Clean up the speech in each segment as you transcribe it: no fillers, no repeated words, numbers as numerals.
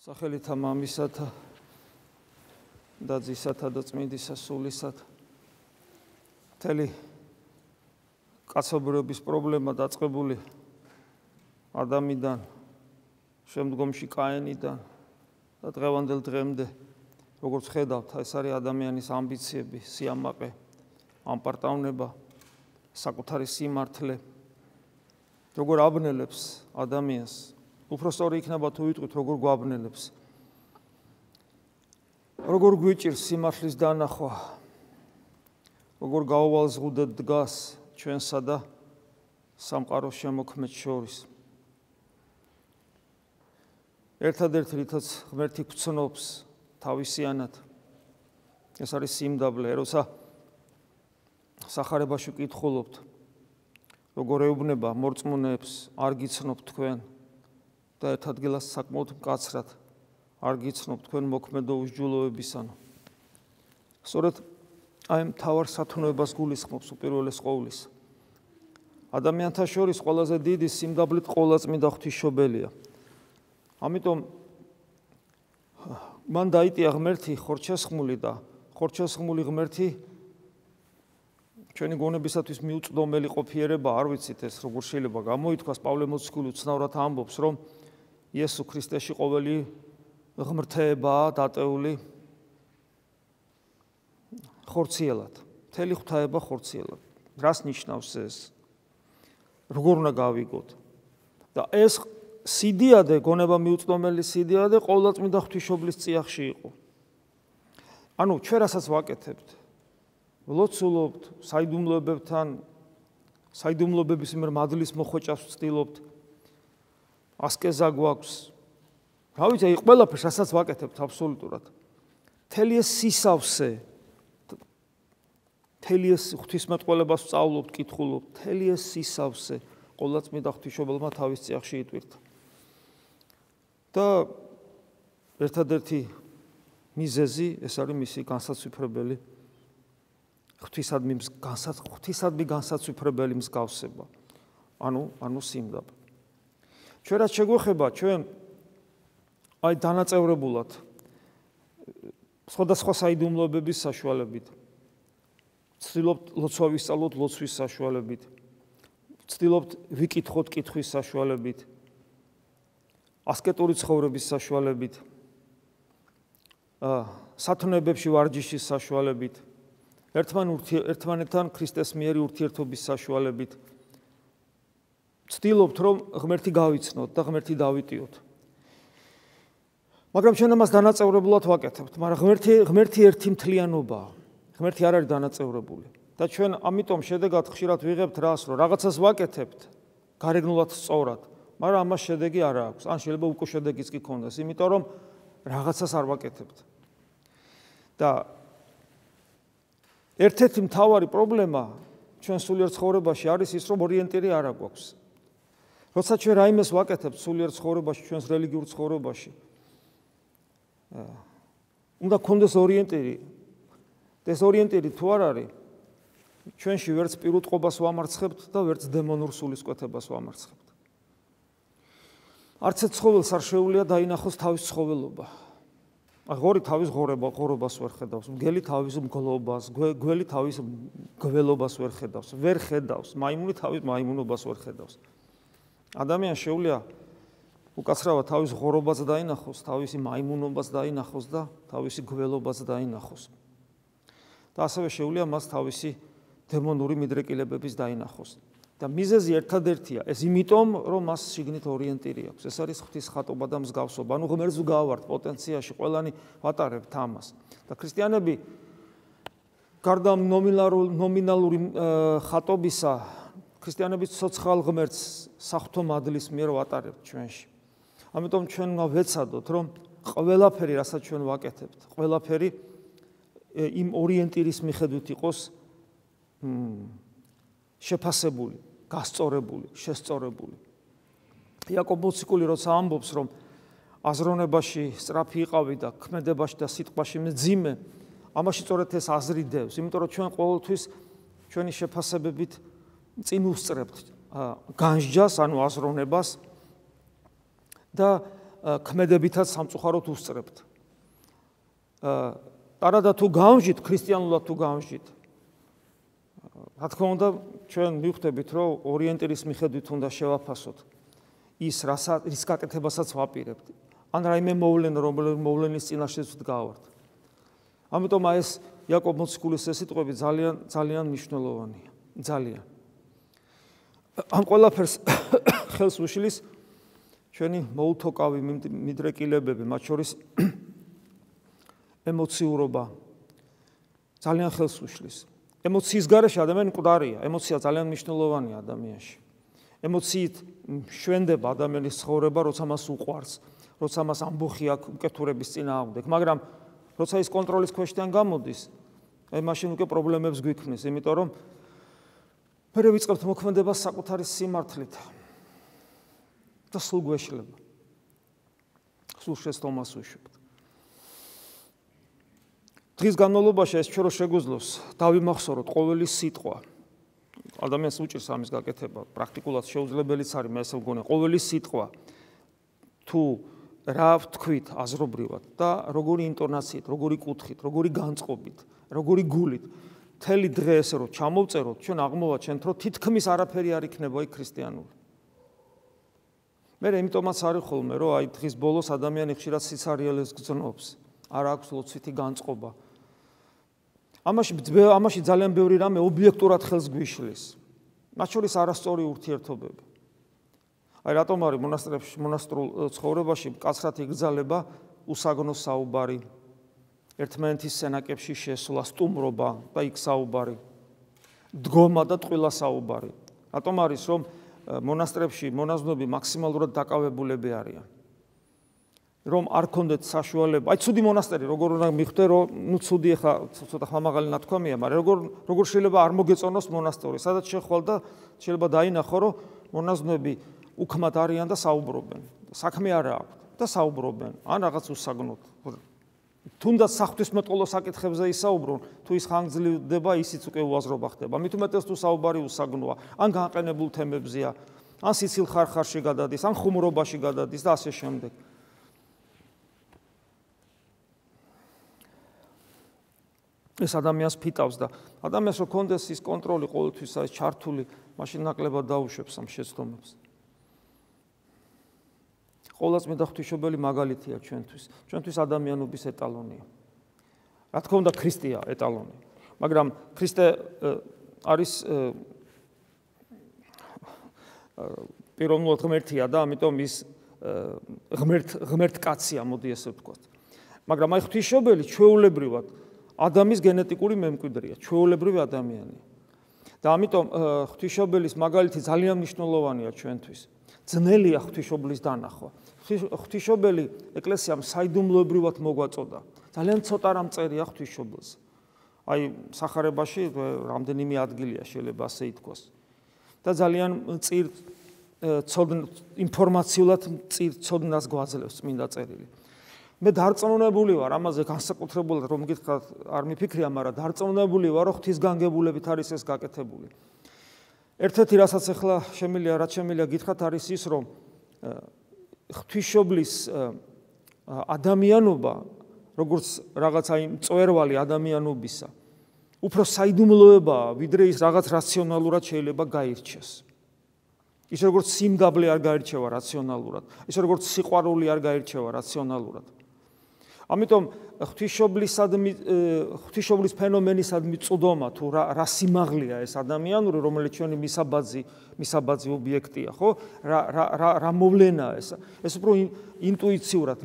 სახელითა მამისათა და ძისათა და წმინდისა სულისათა მთელი კაცობრიობის პრობლემა დაწყებული ადამიანიდან, შემდგომში კაინიდან და დღევანდელ დღემდე, როგორც ხედავთ, ეს არის ადამიანის ამბიციები, სიამაყე, ამპარტავნება, საკუთარი სიმართლე, როგორ აბნელებს ადამიანს. უფრო სწორი იქნება თუ ვიტყვით, როგორ გვაბნელებს. როგორ გვიჭირს სიმართლის დანახვა, როგორ გაუვალზღუდეთ დგას ჩვენსა და სამყაროს შემოქმედს შორის. ერთადერთი რითაც ღმერთი გვცნობს თავისიანად, ეს არის სიმდაბლე, როცა სახარებაში ვკითხულობთ, როგორ ეუბნება მორწმუნეებს, არ გიცნობ თქვენ და ერთ ადგილას საკმაოდ მკაცრად არ გიცნობ თქვენ მოქმედო უსჯულოებისანო. სწორედ აი მთავარ სათნოებას გულისხმობს უპირველეს ყოვლის. ადამიანთა შორის ყველაზე დიდი სიმდაბლით ყოვლადწმინდა ღვთისმშობელია. ამიტომ მან დაიტია ღმერთი ხორჩესხმული და ხორჩესხმული ღმერთი ჩვენი გონებისათვის მიუწვდომელი ყოფიერება, არ ვიცით ეს როგორ შეიძლება გამოითქვას. პავლე მოციქული უცნაურად ამბობს, რომ იესო ქრისტეში ყოველი ღმრთეებაა დატეული ხორციელად. მთელი ღვთაება ხორციელად. რას ნიშნავს ეს? როგორ უნდა გავიგოთ? და ეს სიდიადე, გონება მიუწვდომელი სიდიადე ყოვლადწმინდა ღვთისმშობლის წიაღში იყო. ანუ ჩვენ რასაც ვაკეთებთ, ვლოცულობთ, საიდუმლოებებთან, საიდუმლოებების მიერ მადლის მოხვეჭას ვცდილობთ, ასკეზა გვაქვს. რა ვიცი, აი ყველაფერს რასაც ვაკეთებთ აბსოლუტურად. მთელი ეს სისავსე, მთელი ეს ღვთისმეტყველებას ვსწავლობთ, კითხულობთ, მთელი ეს სისავსე ყოვლადწმინდა ღვთისმშობელმა თავის წიაღში იტვირთა. და ერთადერთი მიზეზი ეს არის მისი განსაცვიფრებელი ღვთისადმი განსაცვიფრებელი მსგავსება. ანუ სიმდაბლე. ჩვენ რაც შეგვეხება, ჩვენ აი დანაწევრებულად სხვადასხვა საიდუმლოებების საშუალებით ვცდილობთ ლოცვა ვისწავლოთ ლოცვის საშუალებით, ვცდილობთ ვიკითხოთ კითხვის საშუალებით, ასკეტური ცხოვრების საშუალებით, სათნოებებში ვარჯიშის საშუალებით, ერთმანეთთან ქრისტეს მიერი ურთიერთობის საშუალებით. ვცდილობთ, რომ ღმერთი გავიცნოთ და ღმერთი დავიტიოთ. მაგრამ ჩვენ ამას დანაწევრებულად ვაკეთებთ, მაგრამ ღმერთი ერთი მთლიანობაა. ღმერთი არ არის დანაწევრებული. და ჩვენ ამიტომ შედეგად ხშირად ვიღებთ რას, რომ რაღაცას ვაკეთებთ გარეგნულად სწორად, მაგრამ ამას შედეგი არ აქვს. ან შეიძლება უკვე შედეგიც კი ქონდეს, იმიტომ რომ რაღაცას არ ვაკეთებთ. და ერთ-ერთი მთავარი პრობლემა ჩვენ სულიერ ცხოვრებაში არის ის, რომ ორიენტირი არ აქვს. როცა ჩვენ რაიმეს ვაკეთებთ სულიერ ცხოვრებაში, ჩვენს რელიგიურ ცხოვრებაში, უნდა გქონდეს ორიენტირი. ეს ორიენტირი თუ არ არის, ჩვენში ვერც პირუტყვობას ვამარცხებთ და ვერც დემონურ სულისკვეთებას ვამარცხებთ. არც ერთ ცხოველს არ შეუძლია დაინახოს თავის ცხოველობა. ღორი თავის ღორობას ვერ ხედავს, მგელი თავის მგლობას, გველი თავის გველობას ვერ ხედავს, ვერ ხედავს, მაიმუნი თავის მაიმუნობას ვერ ხედავს. ადამიანს შეუძლია უკაცრავად თავის ღორობას დაინახოს, თავისი მაიმუნობას დაინახოს და თავისი გველობას დაინახოს. და ასევე შეუძლია მას თავისი დემონური მიდრეკილებების დაინახოს. და მიზეზი ერთადერთია, ეს იმიტომ, რომ მას შიგნით ორიენტირი აქვს. ეს არის ღვთის ხატობა და მსგავსობა. ანუ ღმერთს ვგავართ პოტენციაში, ყველანი ვატარებთ ამას. და ქრისტიანები გარდა ნომინალური ხატობისა, ქრისტიანები ცოცხალ ღმერთს საღვთო მადლის მიერ ვატარებთ ჩვენში. ამიტომ ჩვენ უნდა ვეცადოთ, რომ ყველაფერი, რასაც ჩვენ ვაკეთებთ, ყველაფერი იმ ორიენტირის მიხედვით იყოს შეფასებული, გასწორებული, შესწორებული. იაკობ მოციქული როცა ამბობს, რომ აზროვნებაში სწრაფი იყავი და ქმედებაში და სიტყვაში მძიმე, ამაში სწორედ ეს აზრი დევს, იმიტომ რომ ჩვენ ყოველთვის ჩვენი შეფასებებით წინ უსწრებთ განსჯას, ანუ აზროვნებას და ქმედებითაც სამწუხაროდ უსწრებთ. არადა თუ გავამჟით, ქრისტიანულად თუ გავამჟით. რა თქმა უნდა, ჩვენ მივხვდებით, რომ ორიენტირის მიხედვით უნდა შევაფასოთ ის, რის გაკეთებასაც ვაპირებთ. ან რაიმე მოვლენა, რომელიც მოვლენის წინაშე ვდგავართ. ამიტომ ეს იაკობ მოციქულის ეს სიტყვები ძალიან მნიშვნელოვანია. ძალიან. ამ ყველაფერს ხელს უშლის ჩვენი მოუთოკავი მიდრეკილებები, მათ შორის ემოციურობა ძალიან ხელს უშლის. ემოციის გარეშე ადამიანი მკვდარია, ემოცია ძალიან მნიშვნელოვანია ადამიანში. ემოციით შვენდება ადამიანის ცხოვრება, როცა მას უყვარს, როცა მას ამბოხი აქვს უკეთურების წინააღმდეგ, მაგრამ როცა ის კონტროლის ქვეშიდან გამოდის, აი მაშინ უკვე პრობლემებს გვიქმნის, იმიტომ რომ მერე ვიწყებთ მოქმედებას საკუთარი სიმართლით და სულ გვეშლება. სულ შეცდომას უშვებთ. დღის განმავლობაში ეს ჩვენ რო შეგვიძლოს დავიმახსოვროთ ყოველი სიტყვა. ადამიანს უჭირს ამის გაკეთება, პრაქტიკულად შეუძლებელიც არის, მე ესე მგონია, ყოველი სიტყვა თუ რა ვთქვით აზრობრივად და როგორი ინტონაციით, როგორი კუთხით, როგორი განწყობით, როგორი გულით, მთელი დღე ესე რომ ჩამოვწეროთ, ჩვენ აღმოვაჩენთ, რომ თითქმის არაფერი არ იქნება იქ ქრისტიანული. მე იმიტომაც არის ხოლმე, რომ აი დღის ბოლოს ადამიანი ხშირად სიცარიელეს გრძნობს, არ აქვს ლოცვითი განწყობა. ამაში ძალიან ბევრი რამე ობიექტურად ხელს გვიშლის. მათ შორის არასწორი ურთიერთობები. აი რატომ არის მონასტრულ ცხოვრებაში მკაცრად იგრძალება უსაგნო საუბარი, ერთმანეთის სენაკებში შესვლა, სტუმრობა და იქ საუბარი, დგომა და ტყუილა საუბარი. რატომ არის რომ მონასტრებში მონაზვნები მაქსიმალურად დაკავებულები არიან? რომ არ ქონდეთ საშუალება. აი ცუდი მონასტერი, როგორ უნდა მიხვდე, რომ ნუ ცუდი ხა ცოტა ხმამაღალი ნათქვამია, მაგრამ როგორ შეიძლება არ მოგეწონოს მონასტერი, სადაც შეხვალ და შეიძლება დაინახო, რომ მონაზვნები უქმად არიან და საუბრობენ. საქმე არა აქვთ და საუბრობენ, ან რაღაც უსაგნოდ. თუნდაც საღვთისმეტყველო საკითხებზე ისაუბრონ, თუ ის ხანგრძლივდება, ისიც უკვე უაზრობა ხდება. მით უმეტეს თუ საუბარი უსაგნოა, ან განყენებულ თემებზეა, ან სიცილ ხარხარში გადადის, ან ხუმრობაში გადადის და ასე შემდეგ. ეს ადამიანს ფიტავს და ადამიანს რო კონდეს ის კონტროლი ყოველთვის ეს ჩართული, მაშინ ნაკლებად დაუშვებს ამ შეცდომებს. ყოვლადწმიდა ღვთისმშობელი მაგალითია ჩვენთვის ადამიანობის ეტალონია. რა თქმა უნდა, ქრისტეა ეტალონი, მაგრამ ქრისტე არის პიროვნულად ღმერთია და ამიტომ ის ღმერთ კაცია, მოდი ესე ვთქვათ. მაგრამ აი ღვთისმშობელი ჩვეულებრივად ადამიანის გენეტიკური მემკვიდრეა, ჩვეულებრივი ადამიანია. და ამიტომ ღვთისმშობელის მაგალითი ძალიან მნიშვნელოვანია ჩვენთვის. ძნელია ღვთისმშობლის დანახვა. ღვთისმშობელი ეკლესიამ საიდუმლოებრივად მოგვაწოდა. ძალიან ცოტა რამ წერია ღვთისმშობელს. აი სახარებაში რამდენიმე ადგილია შეიძლება ასე ითქვას. და ძალიან ინფორმაციულად ცოდნას გვაძლევს წმინდა წერილი. მე დარწმუნებული ვარ, ამაზე განსაკუთრებულად რომ გითხრათ, არ მიფიქრია, მაგრამ დარწმუნებული ვარ, რომ ღვთისგანგებულებით არის ეს გაკეთებული. ერთ-ერთი რასაც ახლა შემიძლია გითხრათ, არის ის, რომ ღვთისმშობლის ადამიანობა, როგორც რაღაცა იმ წვერვალი ადამიანობისა, უფრო საიდუმლოებაა, ვიდრე ის რაღაც რაციონალურად შეიძლება გაირჩეს. ის როგორც სიმდაბლე არ გაირჩევა რაციონალურად, ის როგორც სიყვარული არ გაირჩევა რაციონალურად. ამიტომ ღვთისმშობლის ფენომენისადმი წვდომა თუ რა სიმაღლეა ეს ადამიანური, რომელიც ჩვენი მისაბაძი ობიექტია, ხო? რა მოვლენაა ეს? ეს უფრო ინტუიციურად,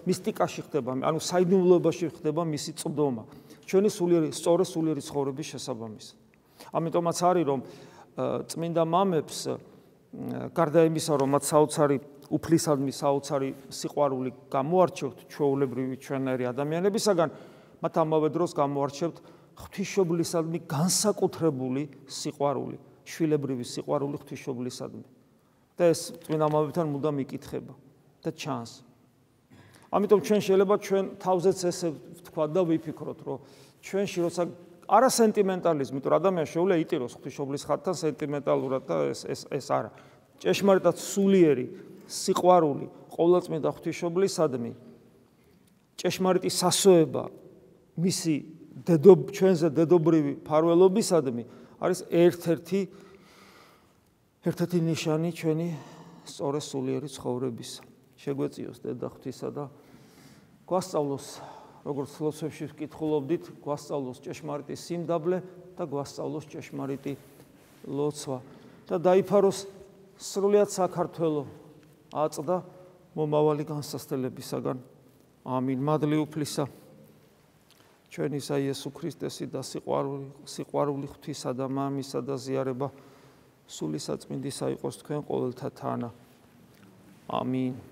მისტიკაში ხდება, ანუ საიდუმლოებაში ხდება მისი წვდომა. ჩვენი სწორი სულიერი ცხოვრების შესაბამისად. ამიტომაც არის რომ წმინდა მამებს გარდა იმისა, რომ მათ საოცარი უფლისადმი საოცარი სიყვარული გამოარჩევთ ჩვეულებრივი ჩვენერი ადამიანებისაგან, მათ ამავე დროს გამოარჩევთ ღვთისმშობლისადმი განსაკუთრებული სიყვარული, შვილებრივი სიყვარული ღვთისმშობლისადმი. და ეს წმინდა მამებთან მუდამ იკითხება და ჩანს. ამიტომ ჩვენ შეიძლება ჩვენ თავზეც ესე ვთქვა და ვიფიქროთ, რომ ჩვენში როცა არა სენტიმენტალიზმი, თუ ადამიანს შეუძლია იტიროს ღვთისმშობლის ხატთან სენტიმენტალურად და ეს არა. ჭეშმარიტად სულიერი სიყვარული ყოვლადწმიდა ღვთისმშობლისადმი, ჭეშმარიტი სასოება მისი ჩვენზე დედობრივი მფარველობისადმი არის ერთ-ერთი ნიშანი ჩვენი სწორი სულიერი ცხოვრებისა. შეგვეწიოს დედა ღვთისა და გვასწავლოს, როგორც ლოცვებში ვკითხულობდით, გვასწავლოს ჭეშმარიტი სიმდაბლე და გვასწავლოს ჭეშმარიტი ლოცვა და დაიფაროს სრულიად საქართველო აწდა მომავალი განსასწელებისაგან. ამინ. მადლი უფლისა ჩვენისა იესო ქრისტესი და სიყვარული ღვთისა და მამისა და ზიარება სული საწმინდისა იყოს თქვენ ყოველთა თანა. ამინ.